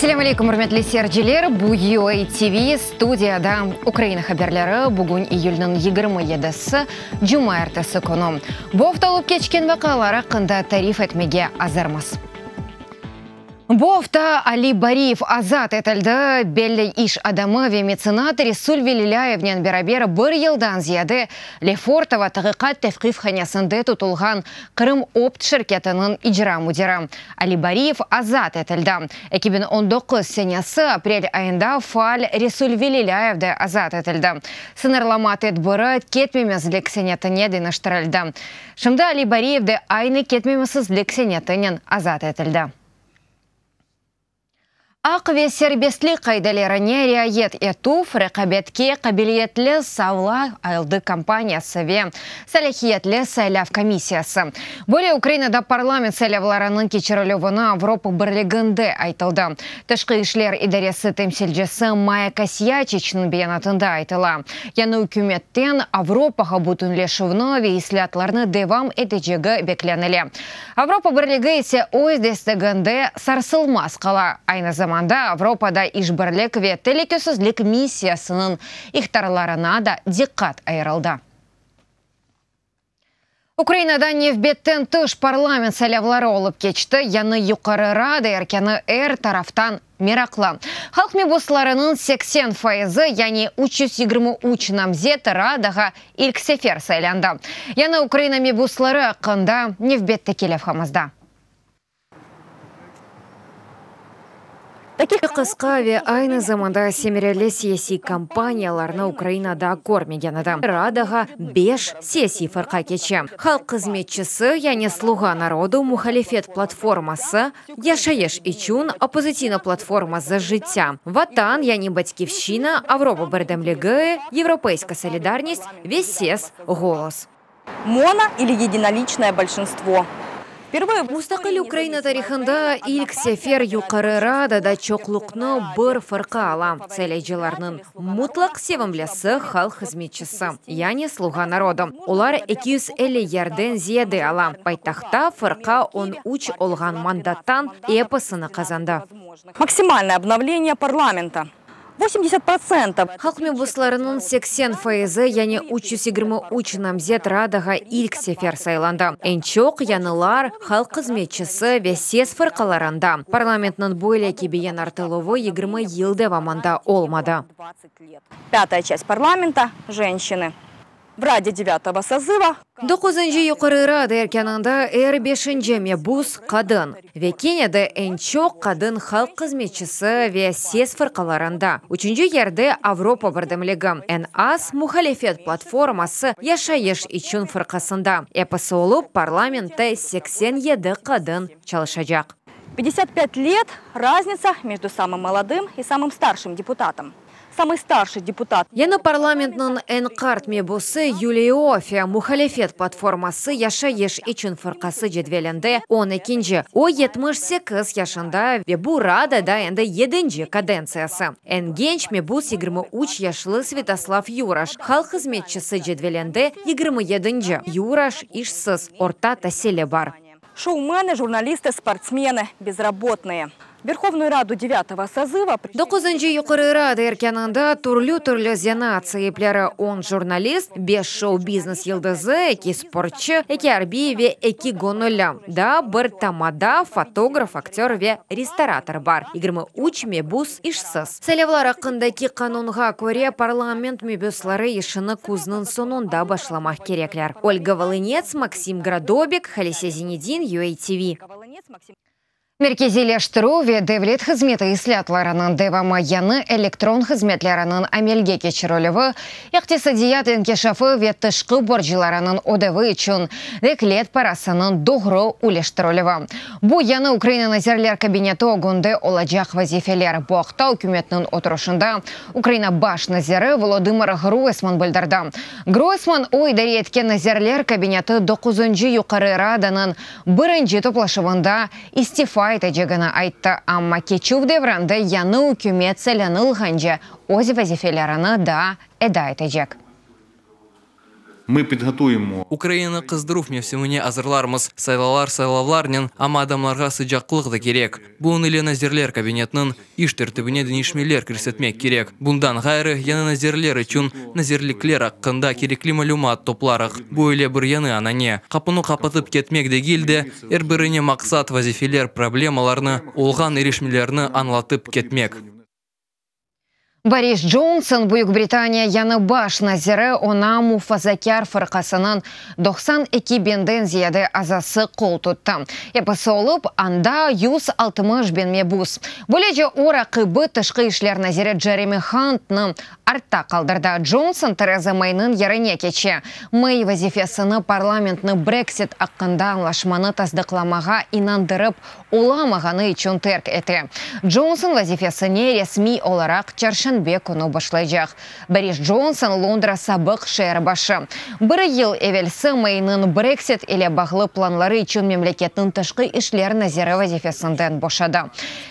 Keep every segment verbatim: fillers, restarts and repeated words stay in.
Selâm aleyküm, ürmetli seyirciler. Bu U A T V studiyada Ukraina haberleri. Bugün iyülniñ yigirmi yedisi, cumaertesi künü. Bu afta olıp keçken vaqialar aqqında tarif etmege azırmız. Bu afta Ali Bariyev azat etildi. Belli iş adamı ve metsenat Resul Velilâyevnen beraber bir yıldan ziyade Lefortovo taqiqat tevqifhanesinde tutulğan Qırım Opt şirketiniñ icra müdiri Ali Bariyev azat etildi. eki biñ on doquz senesi aprel ayında faal Resul Velilâyev de azat etildi. Sıñırlama tedbiri ketmemezlik senetine deñiştirildi. Şimdi Ali Bariyev de aynı ketmemezlik senetinen azat etildi. Aq ve serbestlik qaidelerine riayet etüv, reqabetke qabiliyetli Savla aldı kampaniyası ve salâhiyetli saylav komissiyası. Böyle Ukrainada parlament saylavlarınıñ keçirilüvini Avropa Birliginde aytıldı. Tışqı işler idaresi temsilcisi Maya Kosyaçiçniñ beyanatında aytıla. Yani ükümetten Avropağa bütünleşüvni ve islâatlarnı devam etecegi beklenile. Avropa Birligi ise öz desteginde sarsılmaz qala. Aynı zamanda Avropada işbirlik ve telükesizlik missiyasınıñ ihtarlarına da diqqat ayırıldı. Ukrainada nevbetten tış parlament saylavları olıp keçti. Yañı Yuqarı Rada erkânı er taraftan meraqlı. Halq mebuslarınıñ seksen faizi, yani üç yüz yigirmi üç namzet Radağa ilk sefer saylandı. Yañı Ukraina mebusları aqqında nevbetteki levhamızda. Qısqa ve aynı zamanda semereli siyasiy kampaniyalarnı Ukrainada körmegen edi. Radağa beş siyasiy fırqa keçe. Halq hızmetçisi, yani Sluğa narodu, muhalifet platforması, Yaşayış içün oppozitsiya platforması Життя, Vatan, yani Batkivşçina, Avropa birdemligi, Европейская солидарность ve Ses, Голос. Моно или единоличное большинство. Mustaqil Ukraina tarihında ilk sefer Yuqarı Radada çoqluqnı bir fırqa ala. Saylayıcılarnıñ mutlaq sevimlisi halq hızmetçisi, yani Sluğa narodu. Olar eki yüz elli yerden ziyade ala. Paytahtta fırqa on üç olğan mandattan episini qazandı. Максимальное обновление парламента. восемьдесят процентов. Halq mebuslarınıñ seksen faizi, yani üç yüz yigirmi üç namzet Radağa ilk sefer saylandı. Eñ çoq yañılar halq hızmetçisi ve ses fırqalarında. Parlamentniñ böyle kibi yañartıluvı yigirmi yıl devamında olmadı. Пятая часть парламента – женщины. В Раде девятого созыва Doquzıncı Yuqarı Rada erkânında er beşinci mebus qadın. Ve kene de eñ çoq qadın halq hızmetçisi ve ses fırqalarında. Üçünci yerde Avropa birdemligi. Eñ az muhalifet platforması Yaşayış içün fırqasında. Episi olıp parlamentte seksen yedi qadın çalışacaq. пятьдесят пять лет разница между самым молодым и самым старшим депутатом. Самый старший депутат. Yañı parlamentniñ eñ qart mebusı Yuliya Ioffe, muhalifet platforması Yaşayış içün fırqası cedvelinde on ekinci. O yetmiş sekiz yaşında ve bu Radada endi yedinci kadentsiyası. Eñ genç mebus yigirmi üç yaşlı Svetoslav Yuraş, halq hızmetçisi cedvelinde yigirmi yedinci. Yuraş işsiz, orta tasili bar. Шоумены, журналисты, спортсмены, безработные. Верховную Раду девятого созыва Doquzıncı Yuqarı Rada erkânında türlü-türlü zenaat saipleri on jurnalist, beş şou-biznes yıldızı, eki sportçı, eki arbiy ve eki göñülli. Daa bir tamada, fotograf, aktör ve restorator bar. Yigirmi üç mebus işsiz. Saylavlar aqqındaki qanunğa köre parlament mebusları işini küzniñ soñunda başlamaq kerekler. Olga Volınets, Maksim Gradobik, Halise Zinedin, U A T V. Merkeziyleştirüv ve devlet hızmeti islâatlarınıñ devamı yañı elektron hızmetleriniñ amelge keçirilüvi, iqtisadiyat inkişafı ve tışqı borclarınıñ ödevi içün devlet parasınıñ doğru üleştirilüvi. Bu yañı Ukraina Nazirler Kabineti ögünde olacaq vazifeler. Bu aqta ükümetniñ oturışında Ukraina baş naziri Volodımır Groysman bildirdi. Groysman o idare etken Nazirler Kabineti doquzıncı Yuqarı Radanıñ birinci toplaşuvında istifa etecegini ayttı. Amma keçüv devrinde yañı ükümet saylanılğance öz vazifelerini daa eda etecek. Ми підготуємо Ukrainanı qızdıruv mevsimine azırlarmız. Saylavlar saylavlarnen, amma adamlarğa sıcaqlıq da kerek. Bunıñ ile Nazirler kabinetiniñ iş tertibine deñişmeler kirsetmek kerek. Bundan ğayrı, yañı nazirler içün nazirlikler aqqında kerekli malümat toplarıq. Böyle bir yañı anane. Qapunı qapatıp ketmek degil de, er birine maqsat, vazifeler, problemalarnı, olğan irişmelerni añlatıp ketmek. Boris Johnson, Büyük Britaniya yañı baş naziri, oña Mufazakâr fırqasınıñ doqsan eki biñden ziyade azası qol tuttı. Episi olıp, anda yüz altmış biñ mebus. Böylece o, raqibi tışqı işler naziri Jeremy Huntnı artta qaldırdı. Johnson Tereza Mayniñ yerine keçe. May vazifesini parlamentni Brexit aqqında añlaşmanı tasdıqlamağa inandırıp olamağanı içün terk ete. Johnson vazifesine resmiy olaraq çarşenbe künü başlaycaq. Boris Johnson Londra sabıq şeer başı. Bir yıl evelsi Mayniñ Brexit ile bağlı planları içün memleketniñ tışqı işler naziri vazifesinden boşadı.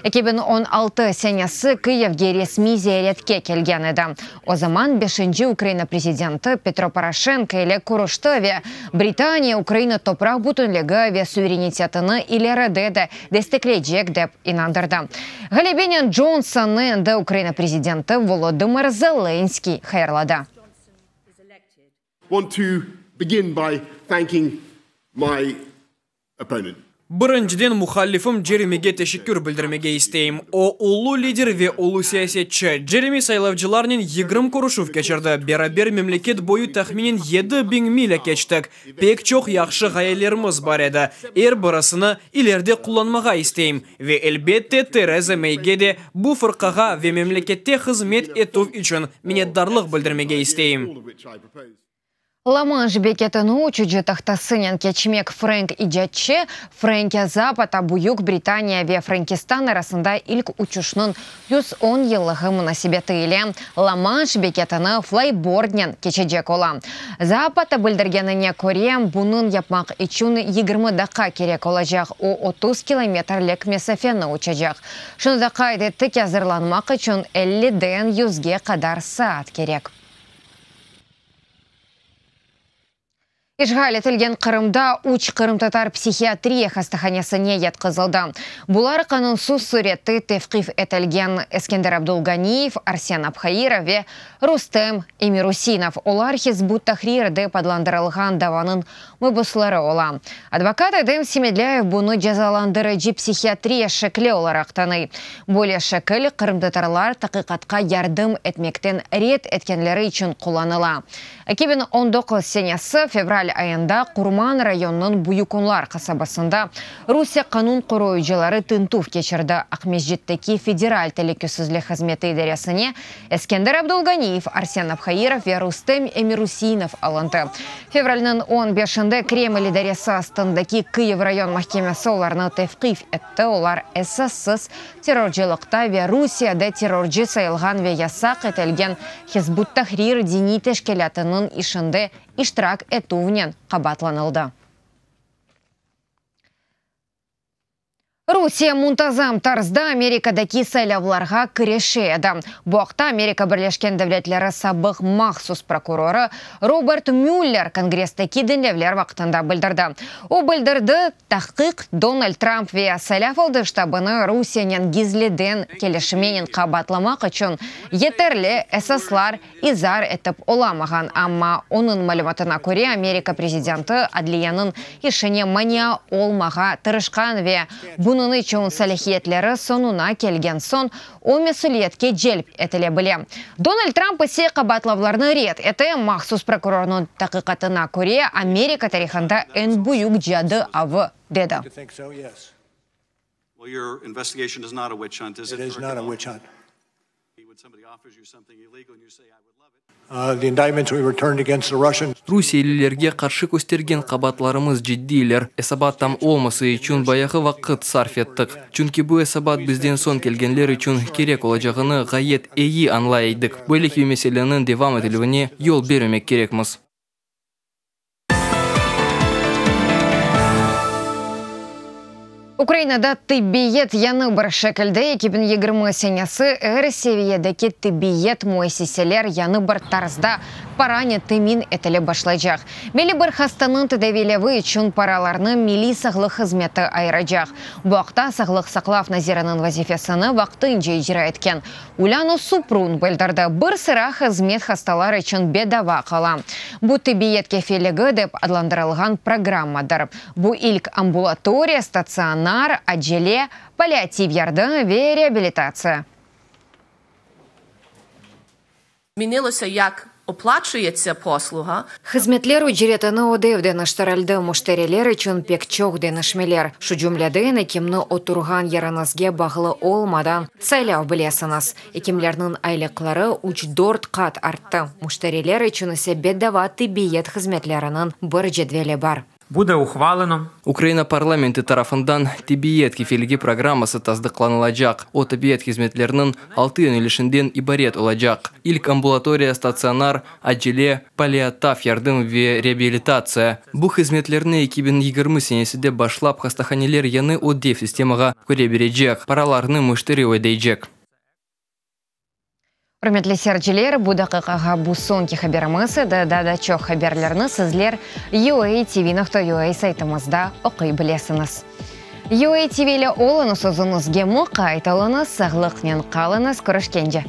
eki biñ on altı senesi Kiyevge resmiy ziyaretke kelgen edi. O zaman beşinci Ukraina prezidenti Petro Poroşenko ile körüşti ve Britaniya Ukraina topraq bütünligi ve suverenitetini ileride de destekleycek dep inandırdı. Ğalebenen Johnsonnı endi Ukraina prezidenti Volodımır Zelenskiy hayırladı. Want to begin by thanking my opponent. Birinciden muhalifim Jeremige teşekkür bildirmege isteyim. O, ulu lider ve ulu siyasetçi. Jeremy saylavcılarnen yigirmi körüşüv keçirdi. Beraber memleket boyu tahminen yedi biñ milâ keçtik. Pek çoq yahşı ğayelerimiz bar edi. Er birisini ileride qullanmağa isteyim. Ve elbette Tereza Mayge de bu fırqağa ve memlekette hızmet etüv içün minnetdarlıq bildirmege isteyim. La-Manş beketini uçucı tahtasınen keçmek frenk icatçı Frenki Zapata Büyük Britaniya ve Frenkistan arasında ilk uçuşnıñ yüz on yıllığı munasebeti ile La-Manş beketini flayboardnen keçecek ola. Zapata bildirgenine köre, bunıñ yapmaq içün yigirmi daqqa kerek olacaq, o otuz kilometrlik mesafeni uçacaq. Şunı da qayd etti ki, azırlanmaq içün elliden yüzge qadar saat kerek. İşğal etilgen Qırımda üç qırımtatar psihiatriya hastahanesine yatqızıldı. Bular qanunsız sürette tevqif etilgen Eskender Abdulganiyev, Arsen Abhairov ve Rustem Emirusinov. Olar Hizb ut-Tahrir dep adlandırılğan davanıñ mabüsleri ola. Advokat Edem Semedlâyev bunı cezalandırıcı psihiatriya şekli olaraq tanıy. Böyle şekil qırımtatarlar taqiqatqa yardım etmekten red etkenleri içün qullanıla. eki biñ on doquz senesi fevral ayında Qurman rayonınıñ Büyük Onlar qasabasında Rusiye qanun qoruyıcıları tintüv keçirdi. Aqmescitteki Federal Telükesizlik Hızmeti idaresine Eskender Abdulganiyev, Arsen Abhairov ve Rustem Emirusinov alındı. Fevralniñ on beşinde Kreml idaresi astındaki Kıyiv rayon mahkemesi olarnı tevqif etti. Olar esassız terrorcılıqta ve Rusiyede terrorcı sayılğan ve yasaq etilgen Hizb ut-Tahrir diniy teşkilâtınıñ işinde iştirak etüvnen qabaatlanıldı. Rusiye muntazam tarzda Amerikadaki saylavlarğa kirişe edi. Bu aqta Amerika Birleşken Devletleri sabıq mahsus prokurorı Robert Müller Kongressteki diñlevler vaqtında bildirdi. O bildirdi, tahqiq Donald Trump ve saylav aldı ştabını Rusiyenen gizliden kelişmenen qabaatlamaq içün yeterli esaslar izar etip olamağan. Amma onıñ malümatına köre, Amerika prezidenti adliyeniñ işine mania olmağa tırışqan ve bunıñ içün salâhiyetleri soñuna kelgen soñ o mesüliyetke celp etile bile. Donald Trump ise qabaatlavlarnı red ete. Mahsus prokurornıñ taqiqatına köre, Amerika tarihında eñ büyük cadı avı dedi. Well, your investigation is not a witch hunt, is it? It is not a witch hunt. When somebody offers you something illegal and you say, I would love it. Uh, the indictments we returned against the Russians. Rusiyelilerge qarşı köstergen qabaatlarımız ciddiyler. Esabat tam olması içün bayağı vaqıt sarf ettik. Çünki bu esabat bizden soñ kelgenler içün kerek olacağını ğayet eyi añlay edik. Böyle kibi meseleniñ devam etilüvine yol bermemek kerekmiz. Ukrainada tibbiyet yañı bir şekilde eki biñ yigirmi senesi er seviyedeki tibbiyet müessiseler yañı bir tarzda paranen temin etilip başlaycaq. Belli bir hastanıñ tedaviylevi içün paralarnı Milliy sağlıq hızmeti ayıracaq. Bu aqta Sağlıq saqlav naziriniñ vazifesini vaqtınca icra etken Ulâna Suprun bildirdi. Bir sıra hızmet hastalar içün bedava qala. Bu tibbiyet kefilligi dep adlandırılğan programmadır. Bu ilk ambulatoriya, statsionar, acele, palliativ yardım ve reabilitatsiya. Змінилося, як оплачується послуга. Hızmetler ücretini ödev deñiştirildi, müşteriler içün pek çoq deñişmeler. Şu cümleden, ekimni oturğan yeriñizge bağlı olmadan saylay bilesiñiz. Ekimlerniñ aylıqları üç-dört qat arttı. Müşteriler içün ise bedava tibbiyet hızmetleriniñ bir cedveli bar. Буде ухвалено Ukraina parlamenti tarafından tibbiyet kefilligi programması tasdıqlanılacaq. O, tibbiyet hızmetleriniñ altı yönelişinden ibaret olacaq: ilk ambulatoriya, statsionar, acele, palliativ yardım ve reabilitatsiya. Bu hızmetlerni eki biñ yigirmi senesinde başlap hastahaneler yañı ödev sistemağa köre berecek. Paralarnı müşteri ödeycek. Ürmetli seyirciler, bu daqiqağa bu soñki haberimiz edi. Daa da çoq haberlerni sizler U A T V nokta U A saytımızda oquy bilesiñiz. U A T V ile oluñız, özüñizge muqayt oluñız, sağlıqnen qalıñız, körüşkence.